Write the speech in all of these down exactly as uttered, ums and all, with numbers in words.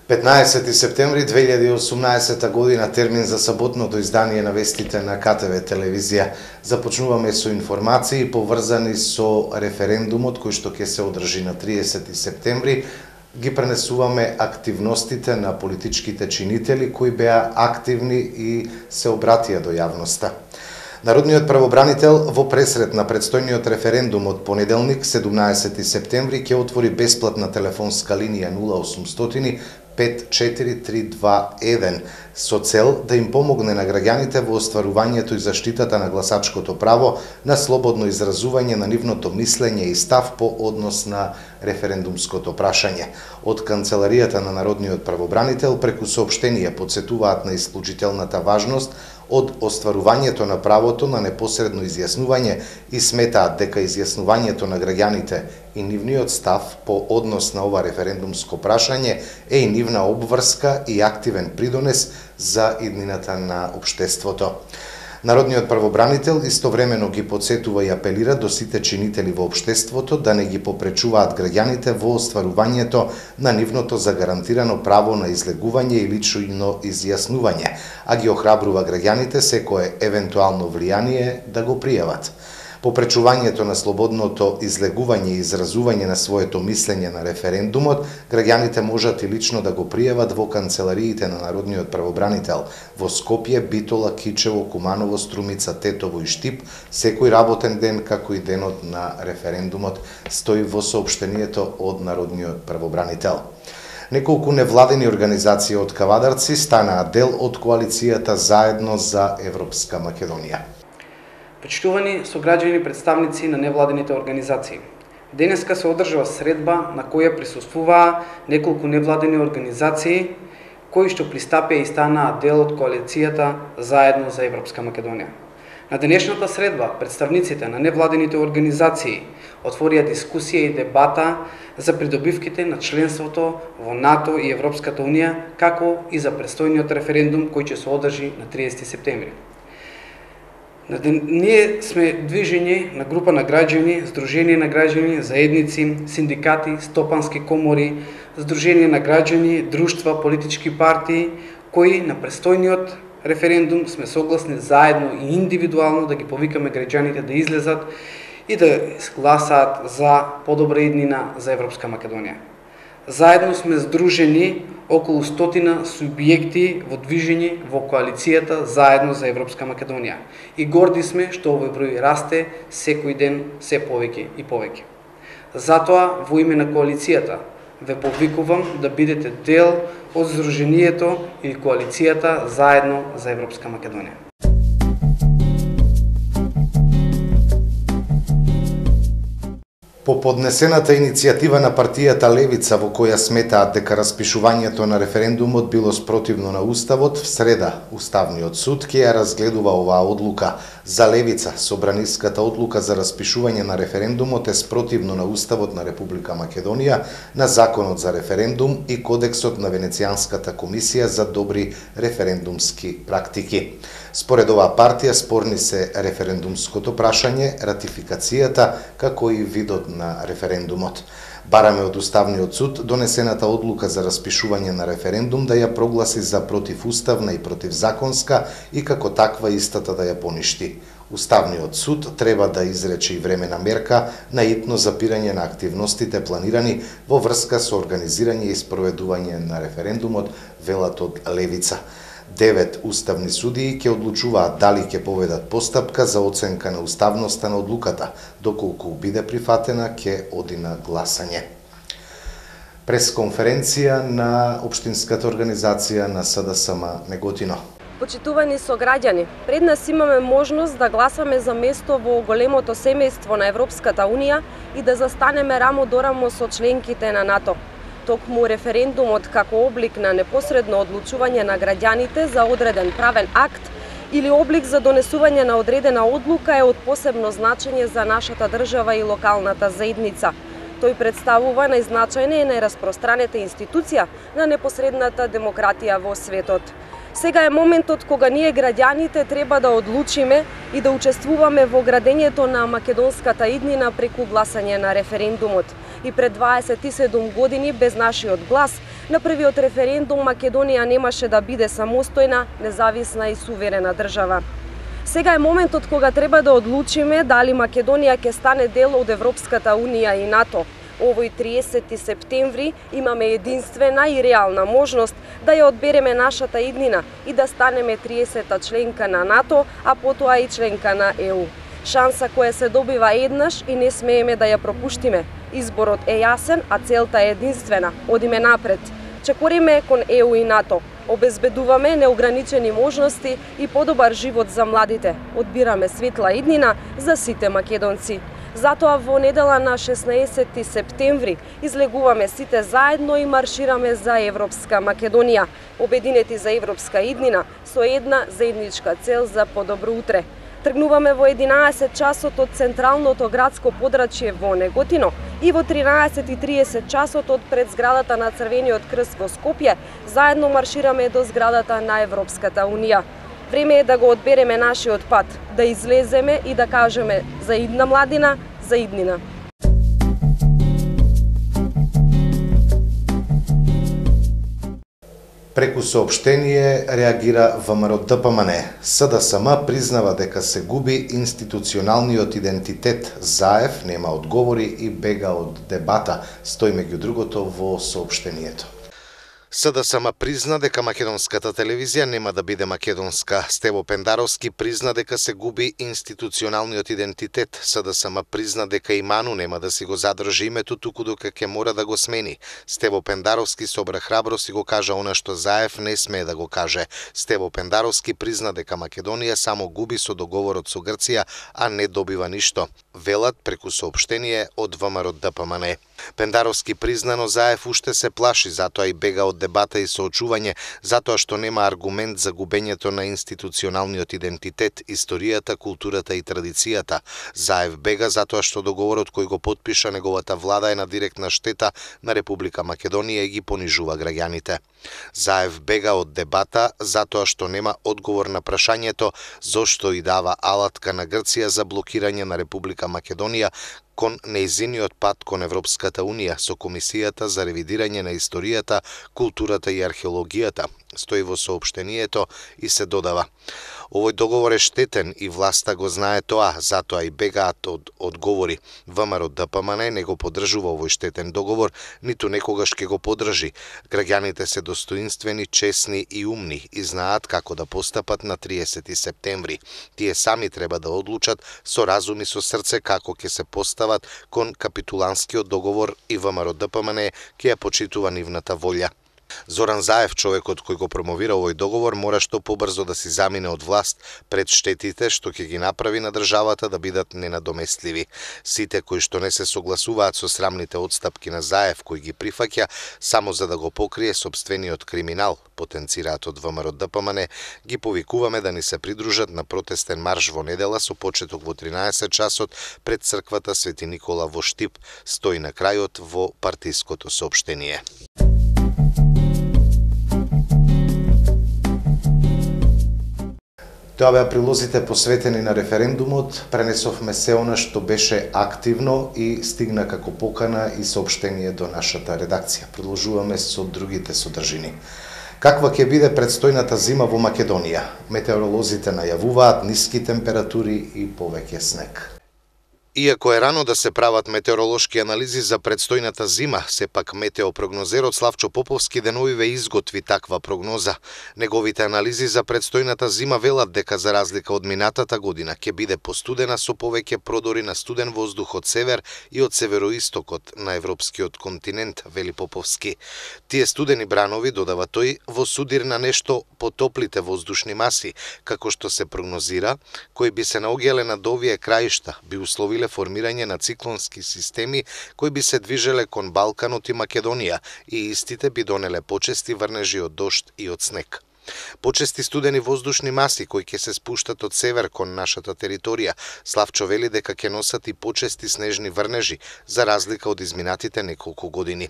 петнаесети септември две илјади и осумнаесета година, термин за саботното издание на вестите на К Т В телевизија. Започнуваме со информации поврзани со референдумот кој што ќе се одржи на триесети септември. Ги пренесуваме активностите на политичките чинители кои беа активни и се обратија до јавноста. Народниот правобранител во пресрет на предстојниот референдум од понеделник, седумнаесети септември, ќе отвори бесплатна телефонска линија нула осумстотини пет четири три два еден со цел да им помогне на граѓаните во остварувањето и заштитата на гласачкото право на слободно изразување на нивното мислење и став по однос на референдумското прашање. Од Канцеларијата на Народниот правобранител преку соопштение подсетуваат на исклучителната важност од остварувањето на правото на непосредно изјаснување и сметаат дека изјаснувањето на граѓаните и нивниот став по однос на ова референдумско прашање е и нивна обврска и активен придонес за иднината на општеството. Народниот правобранител истовремено ги подсетува и апелира до сите чинители во општеството да не ги попречуваат граѓаните во остварувањето на нивното загарантирано право на излегување и лично изјаснување, а ги охрабрува граѓаните секое евентуално влијание да го пријават. Попречувањето на слободното излегување и изразување на своето мислење на референдумот, граѓаните можат и лично да го пријават во канцелариите на Народниот правобранител во Скопје, Битола, Кичево, Куманово, Струмица, Тетово и Штип, секој работен ден како и денот на референдумот, стои во соопштението од Народниот правобранител. Неколку невладени организации од Кавадарци станаа дел од коалицијата Заедно за Европска Македонија. Почитувани сограѓани представници на невладените организации, денеска се одржува средба на која присуствуваа неколку невладени организации кои што пристапија и станаа дел од коалицијата Заедно за Европска Македонија. На денешната средба представниците на невладените организации отворија дискусија и дебата за придобивките на членството во НАТО и Европската Унија, како и за предстојниот референдум кој ќе се одржи на триесети септември. Ние сме движење на група на граѓани, Сдружение на граѓани, заедници, синдикати, стопански комори, Сдружение на граѓани, друштва, политички партии, кои на предстојниот референдум сме согласни заедно и индивидуално да ги повикаме граѓаните да излезат и да гласаат за подобра иднина за Европска Македонија. Заедно сме здружени околу стотина субјекти во движење во коалицијата Заедно за Европска Македонија. И горди сме што овој број расте секој ден се повеќе и повеќе. Затоа, во име на коалицијата, ве повикувам да бидете дел од здруженијето или коалицијата Заедно за Европска Македонија. По поднесената иницијатива на партијата Левица, во која сметаат дека распишувањето на референдумот било спротивно на Уставот, в среда Уставниот суд ќе ја разгледува оваа одлука. За Левица, собраниската одлука за распишување на референдумот е спротивно на Уставот на Република Македонија, на Законот за референдум и Кодексот на Венецијанската комисија за добри референдумски практики. Според оваа партија, спорни се референдумското прашање, ратификацијата, како и видот на референдумот. Бараме од Уставниот суд донесената одлука за распишување на референдум да ја прогласи за противуставна и противзаконска и како таква истата да ја поништи. Уставниот суд треба да изрече и времена мерка на итно запирање на активностите планирани во врска со организирање и спроведување на референдумот, велат од Левица. Девет уставни судии ќе одлучуваат дали ќе поведат постапка за оценка на уставноста на одлуката, доколку биде прифатена ќе оди на гласање. Пресконференција на Општинската организација на С Д С М Неготино. Почитувани сограѓани, пред нас имаме можност да гласаме за место во големото семејство на Европската Унија и да застанеме рамо до рамо со членките на НАТО. Токму референдумот како облик на непосредно одлучување на граѓаните за одреден правен акт или облик за донесување на одредена одлука е од посебно значење за нашата држава и локалната заедница. Тој представува најзначајна и најраспространета институција на непосредната демократија во светот. Сега е моментот кога ние граѓаните треба да одлучиме и да учествуваме во градењето на македонската иднина преку гласање на референдумот. И пред дваесет и седум години без нашиот глас, на првиот референдум Македонија немаше да биде самостојна, независна и суверена држава. Сега е моментот кога треба да одлучиме дали Македонија ќе стане дел од Европската унија и НАТО. Овој триесети септември имаме единствена и реална можност да ја одбереме нашата иднина и да станеме триесета членка на НАТО, а потоа и членка на Е У. Шанса која се добива еднаш и не смееме да ја пропуштиме. Изборот е јасен, а целта е единствена. Одиме напред. Чекориме кон Е У и НАТО. Обезбедуваме неограничени можности и подобар живот за младите. Одбираме светла иднина за сите македонци. Затоа во недела на шеснаесети септември излегуваме сите заедно и маршираме за Европска Македонија, обединети за европска иднина со една заедничка цел за подобро утре. Тргнуваме во единаесет часот од централното градско подрачје во Неготино и во тринаесет и триесет часот од пред зградата на Црвениот крст во Скопје заедно маршираме до зградата на Европската Унија. Време е да го одбереме нашиот пат, да излеземе и да кажеме за идна младина, за иднина. Преку соопштение реагира Вэ Ем Ер Д П М Н. С Д С М признава дека се губи институционалниот идентитет. Заев нема одговори и бега од дебата, стои меѓу другото во соопштението. С Д С М призна дека македонската телевизија нема да биде македонска. Стево Пендаровски призна дека се губи институционалниот идентитет. С Д С М призна дека и Ману нема да си го задржи името, туку дека ќе мора да го смени. Стево Пендаровски собра храброст и го кажа она што Заев не смее да го каже. Стево Пендаровски призна дека Македонија само губи со договорот со Грција, а не добива ништо. Велат преку соопштение од Вэ Ем Ер Д П М Н. Пендаровски признано Заев уште се плаши, затоа и бега од дебата и соочување, затоа што нема аргумент за губењето на институционалниот идентитет, историјата, културата и традицијата. Заев бега затоа што договорот кој го потпиша неговата влада е на директна штета на Република Македонија и ги понижува граѓаните. Заев бега од дебата затоа што нема одговор на прашањето зошто и дава алатка на Грција за блокирање на Република Македонија кон неизиниот пат кон Европската Унија со Комисијата за ревидирање на историјата, културата и археологијата, стои во соопштението и се додава. Овој договор е штетен и власта го знае тоа, затоа и бегаат од одговори. Вэ Ем Ер Д П М Н не го поддржува овој штетен договор, ниту некогаш ќе го поддржи. Граѓаните се достоинствени, чесни и умни и знаат како да постапат на триесети септември. Тие сами треба да одлучат со разум и со срце како ќе се постават кон капитуланскиот договор и Вэ Ем Ер Д П М Н ќе ја почитува нивната волја. Зоран Заев, човекот кој го промовира овој договор, мора што побрзо да си замине од власт пред штетите што ќе ги направи на државата да бидат ненадоместливи. Сите кои што не се согласуваат со срамните одстапки на Заев кој ги прифаќа само за да го покрие собствениот криминал, потенцираат од Вэ Ем Ер Д П М Н, ги повикуваме да ни се придружат на протестен марш во недела со почеток во тринаесет часот пред црквата Свети Никола во Штип, стои на крајот во партиското соопштение. Тоа беа прилозите посветени на референдумот, пренесовме се она што беше активно и стигна како покана и соопштение до нашата редакција. Продолжуваме со другите содржини. Каква ќе биде предстојната зима во Македонија? Метеоролозите најавуваат ниски температури и повеќе снег. Иако е рано да се прават метеоролошки анализи за предстојната зима, сепак метеопрогнозерот Славчо Поповски деновиве изготви таква прогноза. Неговите анализи за предстојната зима велат дека за разлика од минатата година ќе биде постудена со повеќе продори на студен воздух од север и од североистокот на европскиот континент, вели Поповски. Тие студени бранови, додава тој, во судир на нешто потоплите воздушни маси, како што се прогнозира, кои би се наоѓале над овие краишта, би условиле формирање на циклонски системи кои би се движеле кон Балканот и Македонија и истите би донеле почести врнежи од дожд и од снег. Почести студени воздушни маси кои ќе се спуштат од север кон нашата територија, Славчо вели дека ќе носат и почести снежни врнежи, за разлика од изминатите неколку години.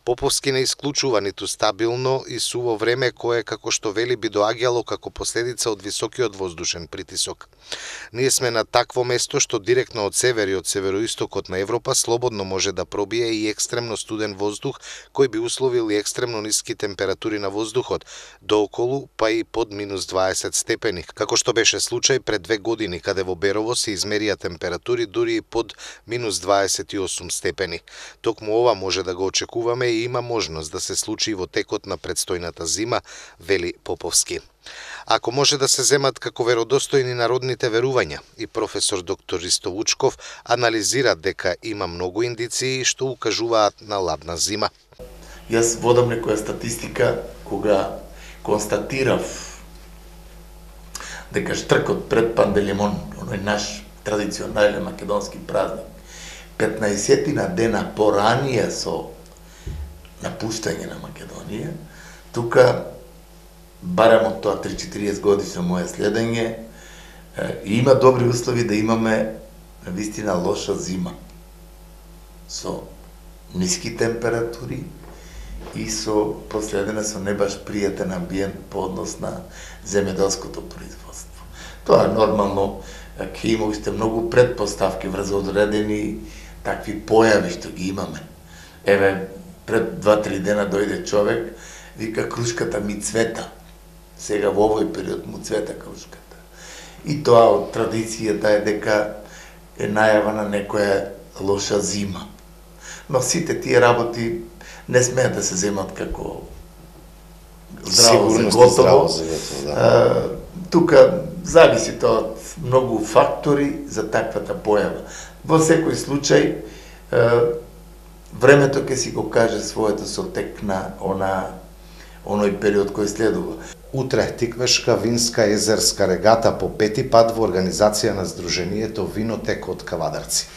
Поповски не исклучува ниту стабилно и суво време кое, како што вели, би доаѓало како последица од високиот воздушен притисок. Ние сме на такво место што директно од север и од североистокот на Европа слободно може да пробие и екстремно студен воздух кој би условил и екстремно ниски температури на воздухот, дооколу па и под минус дваесет степени, како што беше случај пред две години, каде во Берово се измерија температури дури и под минус дваесет и осум степени. Токму ова може да го очекуваме и има можност да се случи во текот на предстојната зима, вели Поповски. Ако може да се земат како веродостојни народните верувања, и професор доктор Ристо Вучков анализира дека има многу индиции што укажуваат на ладна зима. Јас водам некоја статистика кога констатирав дека штркот пред Панделимон, оној наш традиционален македонски празник, петнаесетина дена поранije со напуштање на Македонија, тука барем од тоа три-четириесет годишно моје следење, и има добри услови да имаме навистина лоша зима со ниски температури и со последена со не баш пријатен амбиент по однос на земјоделското производство. Тоа нормално ќе има уште многу предпоставки врз одредени такви појави што ги имаме. Еве, пред два-три дена дојде човек, вика крушката ми цвета. Сега во овој период му цвета крушката. И тоа од традицијата е дека е најава на некоја лоша зима. Но сите тие работи не смеат да се земат како здраво за готово. Да. Тука зависи тоа од многу фактори за таквата појава. Во секој случај, времето ќе си го каже своето со тек на она, оној период кој следува. Утре Тиквешка винска езерска регата по пети пат во организација на Сдруженијето Винотек од Кавадарци.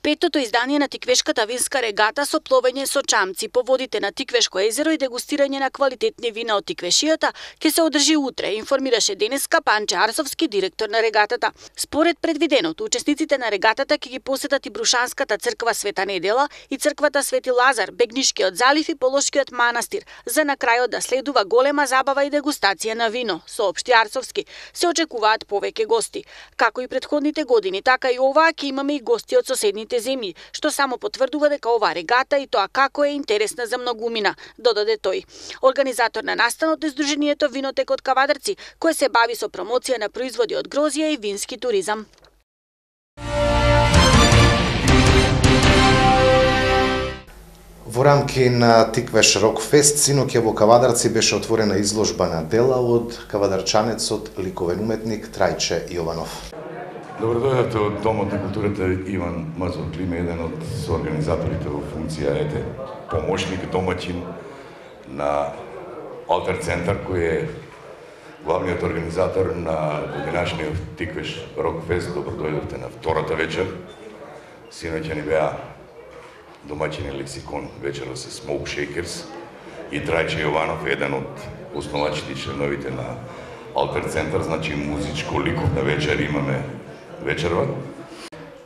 Петото издание на Тиквешката винска регата со пловење со чамци по водите на Тиквешко езеро и дегустирање на квалитетни вина од Тиквешијата ќе се одржи утре, информираше денеска Панче Арсовски, директор на регатата. Според предвиденото, учесниците на регатата ќе ги посетат и Брушанската црква Света Недела и црквата Свети Лазар, Бегнишкиот залив и Полошкиот манастир, за на крајот да следува голема забава и дегустација на вино, соопшти Арсовски. Се очекуваат повеќе гости. Како и претходните години, така и оваа ќе имаме и гости од соседните земји, што само потврдува дека оваа регата и тоа како е интересна за многумина, додаде тој. Организатор на настанот е Сдруженијето Винотек од Кавадарци, кое се бави со промоција на производи од грозје и вински туризам. Во рамки на Тиквеш Рок Фест, синоќа во Кавадарци беше отворена изложба на дела од кавадарчанецот ликовен уметник Трајче Јованов. Добро дојдовте од Домот на културата Иван Мазов Климе, еден од соорганизаторите во функција, ете, помошник, домаќин на Алтер центар, кој е главниот организатор на годинашниот Тиквеш Рок Фест. Добро дојдовте на втората вечер. Синоќа ни беа домаќини Лексикон, вечерот се Smoke Shakers и Трајче Јованов, еден од основачите и членовите на Алтер центар, значи музичко ликовна вечер имаме вечерва.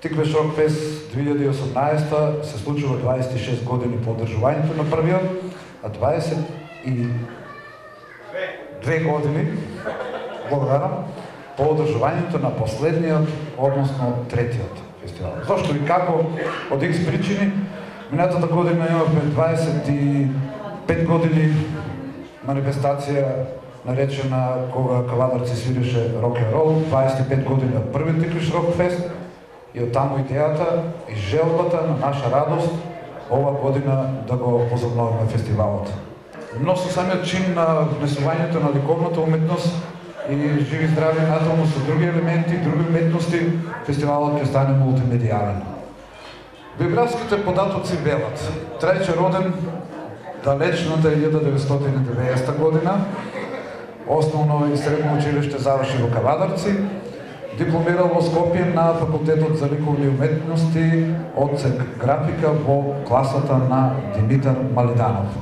Тиквеш Рок Фест две илјади и осумнаесета се случува дваесет и шест години по одржувањето на првиот, а дваесет и две години, благодарам, по одржувањето на последниот, односно третиот фестивал. Зошто и како? Од икс причини, минатата година имавме дваесет и пет години манифестација наречена кога Кавадарци свиреше рок-н-рол, дваесет и пет години од првиот Тиквеш Рок Фест, и оттаму идејата и желбата на наша радост ова година да го возобновиме фестивалот. Но со самиот чин на внесувањето на ликовната уметност и живи здрави натаму со други елементи, други уметности, фестивалот ќе стане мултимедијален. Биографските податоци велат: Трајче роден далечната илјада деветстотини и деветдесета година, основно и средно училиште заврши во Кавадарци, дипломирал во Скопје на факултетот за ликовни уметности, одсек графика во класата на Димитар Малиданов.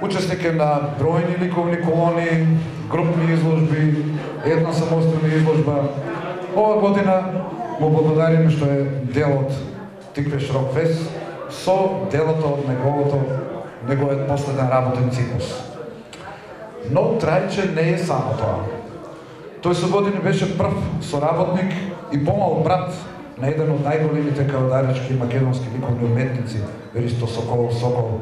Учесник е на бројни ликовни колони, групни изложби, една самостојна изложба. Ова година му благодариме што е дел од Тиквеш Рок Фест со делото од неговото неговиот последен работен циклус. Но Трајче не е само тоа. Тој со години беше прв соработник и помал брат на еден од најголемите кавадаречки македонски ликовни уметници, Ристо Соколов Сокол.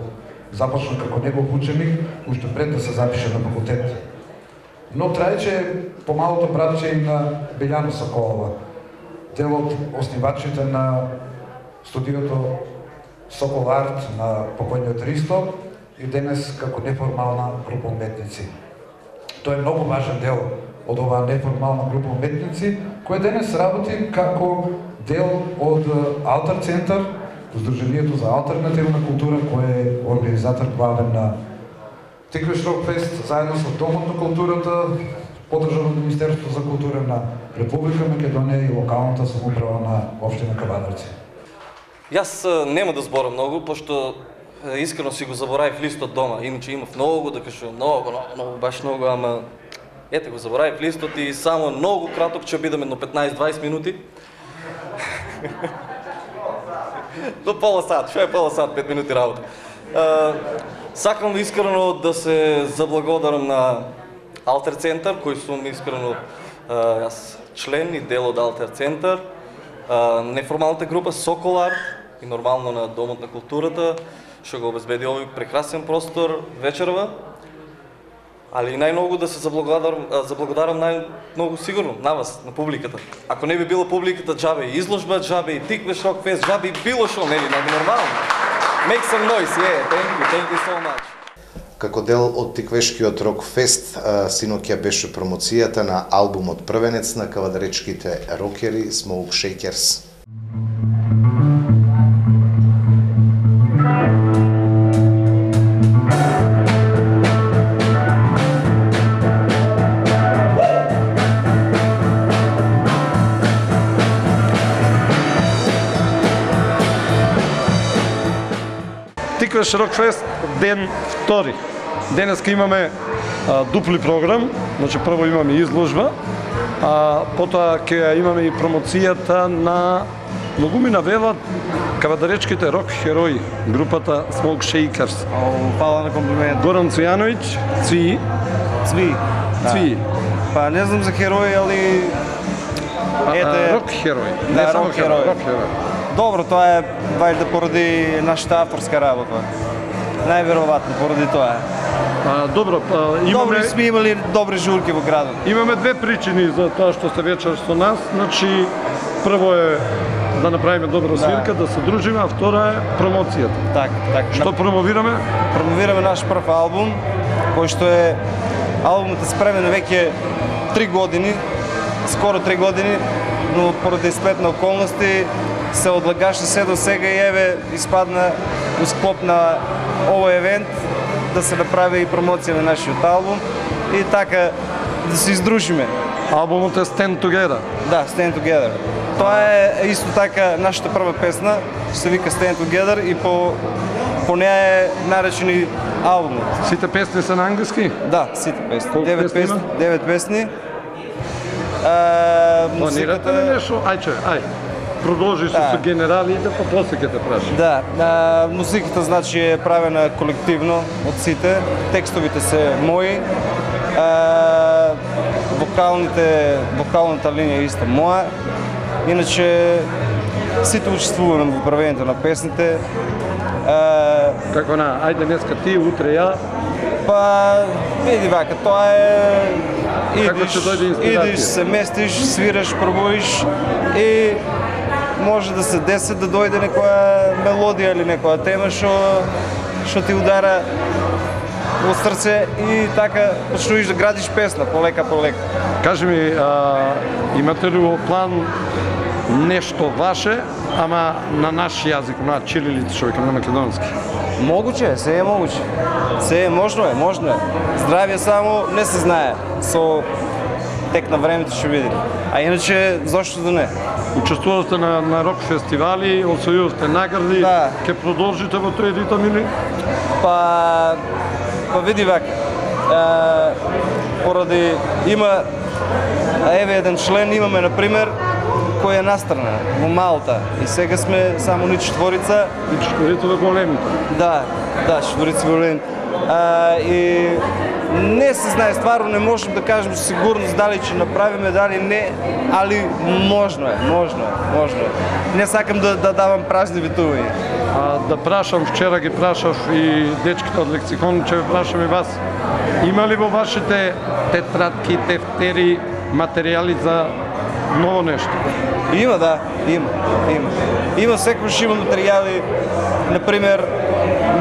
Започна како негов ученик, уште пред да се запише на факултет. Но Трајче е помалото братче и на Белјана Соколова, дел од основачите на студиото Сокол Арт на покојниот Ристо и денес како неформална група уметници. Тој е многу важен дел од оваа неформална група уметници, која денес работи како дел од Алтар центар, Сдруженијето за алтернативна култура, кој е организатор главен на Тиквеш Рок Фест, заедно со Домот на културата, поддржан од Министерството за култура на Република Македонија и локалната самоуправа на општина Кавадарци. Јас нема да зборам многу, пошто искрено си го заборавив листот дома. Иначе имав многу да кажувам, многу, многу, многу, баш многу, ама ете го заборавив листот и само многу краток ќе бидам едно петнаесет-дваесет минути. До пола сат, што е пола сат, пет минути работа. Сакам искрено да се заблагодарам на Алтер центар, кој сум искрено јас член и дел од Алтер центар, неформалната група Сокол Арт и нормално на Домот на културата, што го обезбеди овој прекрасен простор вечерва. Али и најмногу да се заблагодарам, заблагодарам најмногу сигурно на вас, на публиката. Ако не би била публиката, джабе и изложба, джабе и Тиквеш Рок Фест, джабе и било шо, нели, нормално. Make some noise, yeah, thank you, thank you so much. Како дел од Тиквешкиот Рок Фест, синоќа беше промоцијата на албумот првенец на кавадаречките рокери Smoke Shakers. Тиквеш Рок Фест ден втори. Денеска имаме а, дупли програм, значи прво имаме изложба, а потоа ќе имаме и промоцијата на многу ми навелат кавадаречките рок херои, групата Smoke Shakers. Фала на комплимент. Горан Цвијановиќ, Цви. Цви. Цви. Па не знам за херои, али ете рок херои. Да, не само рок херои. Рок херои. Добро, тоа е вајде поради нашата авторска работа. Најверојатно поради тоа. А, добро, а, имаме... Добри сме имали добри журки во градот. Имаме две причини за тоа што сте вечер со нас. Значи, прво е да направиме добра свирка, да, да се дружиме, а втора е промоцијата. Така, така. Што промовираме? Промовираме наш прв албум, кој што е албумот е спремен веќе три години, скоро три години, но поради сплет на околности се одлагаше се до сега и еве испадна во склоп на овој евент да се направи и промоција на нашиот албум и така да се издружиме. Албумот е Stand Together. Да, Stand Together. Тоа е исто така нашата прва песна, се вика Stand Together и по по неа е наречени албумот. Сите песни се на англиски? Да, сите песни. Колку девет песни песни, има? девет песни. А, Планирате ли нешто? Ајче, ај. Продолжи со, со генералите, па после ќе те прашам. Да, а, музиката значи е правена колективно од сите, текстовите се мои, а, вокалните, вокалната линија е иста моја, иначе сите учествуваме во правењето на песните. А, Како на, ајде днеска ти, утре ја? Па, види вака, тоа е... Идиш, идиш, се местиш, свираш, пробуиш и може да се деси да дојде некоја мелодија или некоја тема што што ти удара во срце и така почнуваш да градиш песна полека полека. Кажи ми, а, имате ли во план нешто ваше, ама на наш јазик, на чирилица, што викам на македонски? Могуче е, се е могуче. Се е, можно е, можно е. Здравје само не се знае. Со тек на времето ќе видиме. А иначе, зошто да не? Учествувате на, на рок фестивали, освојувате награди, да. Ке продолжите во тој ритам или? Па, па види вака, поради има, еве еден член имаме, например, кој е настрана во Малта. И сега сме само ни четворица. И четворица во големите. Да, да, четворица големи. А, и не се знае, стварно не можем да кажем со сигурност дали ќе направиме, дали не, али можно е, можно е, можно е. Не сакам да, да давам празни ветувања. А, да прашам, вчера ги прашав и дечките од лексикон, ќе ви прашам и вас. Има ли во вашите тетрадки, тефтери, материјали за ново нешто? Има, да, има, има. Има секојаш има материјали, например,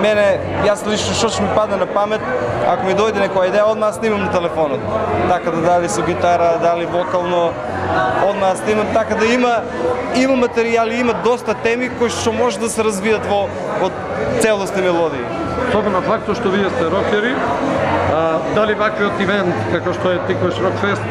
мене, јас лично што ќе ми падне на памет, ако ми дојде некоја идеја, одма снимам на телефонот. Така да дали со гитара, дали вокално, одма снимам, така да има има материјали, има доста теми кои што може да се развијат во од целосни мелодии. Особено фактот што вие сте рокери, а, дали ваквиот ивент како што е Тиквеш Рокфест,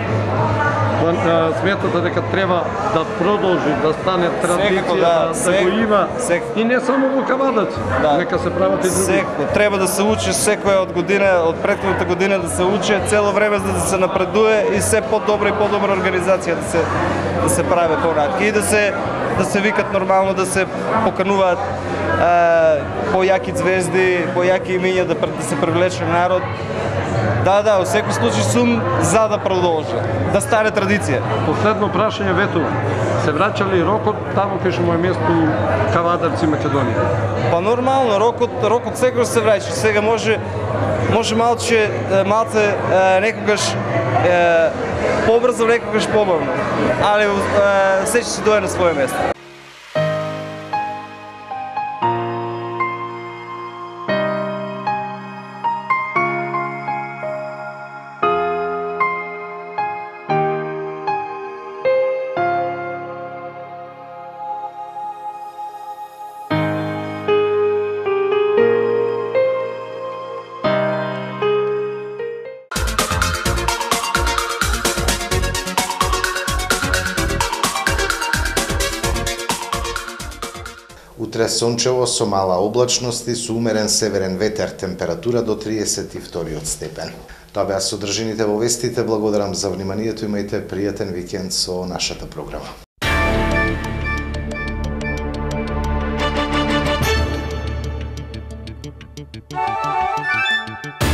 сметате дека треба да продолжи, да стане традиција, Секако, да, да, сек, го има сек. и не само во Кавадаци, Да. нека се прават и други. Секо, треба да се учи секоја од година, од претходната година да се учи цело време за да се напредува и се подобра и подобра организација да се да се прави понатаму и да се да се викат нормално, да се покануваат појаки звезди, појаки имиња да, да се привлече народ. Да, да, во секој случај сум за да продолжи, да стане традиција. Последно прашање, Вето, се враќа ли рокот таму кај што му е место Кавадарци, Македонија? Па нормално, рокот, рокот секогаш се враќа. Сега може може малче малце некогаш е, побрзо, некогаш побавно. Али е, се ќе се дојде на своје место. Утре сончево со мала облачност и со умерен северен ветер, температура до триесет и втори степен. Тоа беа содржините во вестите, благодарам за вниманието, имајте пријатен викенд со нашата програма. Thank you.